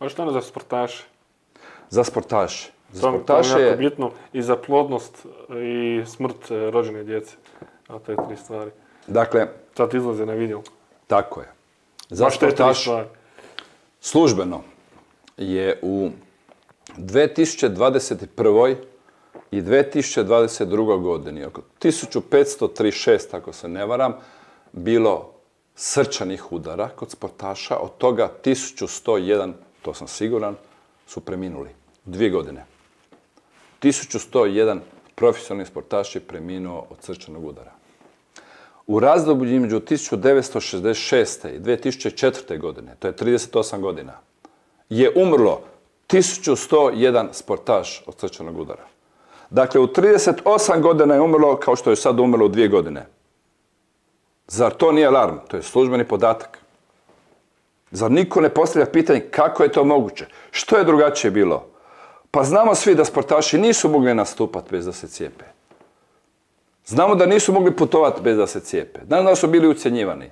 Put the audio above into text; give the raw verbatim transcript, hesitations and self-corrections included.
A što ono za sportaše? Za sportaše. Za To mi sportaše je jako je... bitno i za plodnost i smrt e, rođene djece. A te tri stvari. Dakle, Sad izlaze na video. tako je. Za Baš te tri sportaš stvari. službeno je u dve tisuće dvadeset prve i dve tisuće dvadeset drugoj godini oko tisuću petsto trideset šest, ako se ne varam, bilo srčanih udara kod sportaša, od toga tisuću sto jedan, to sam siguran, su preminuli. Dvije godine. tisuću sto jedan profesionalni sportaš je preminuo od srčanog udara. U razdoblju između tisuću devetsto šezdeset šeste i dve tisuće četvrte. godine, to je trideset osam godina, je umrlo tisuću sto jedan sportaš od srčanog udara. Dakle, u trideset osam godina je umrlo kao što je sad umrlo u dvije godine. Zar to nije alarm? To je službeni podatak. Zar niko ne postavlja pitanje kako je to moguće? Što je drugačije bilo? Pa znamo svi da sportaši nisu mogli nastupati bez da se cijepe. Znamo da nisu mogli putovati bez da se cijepe. Znamo da su bili ucjenjivani.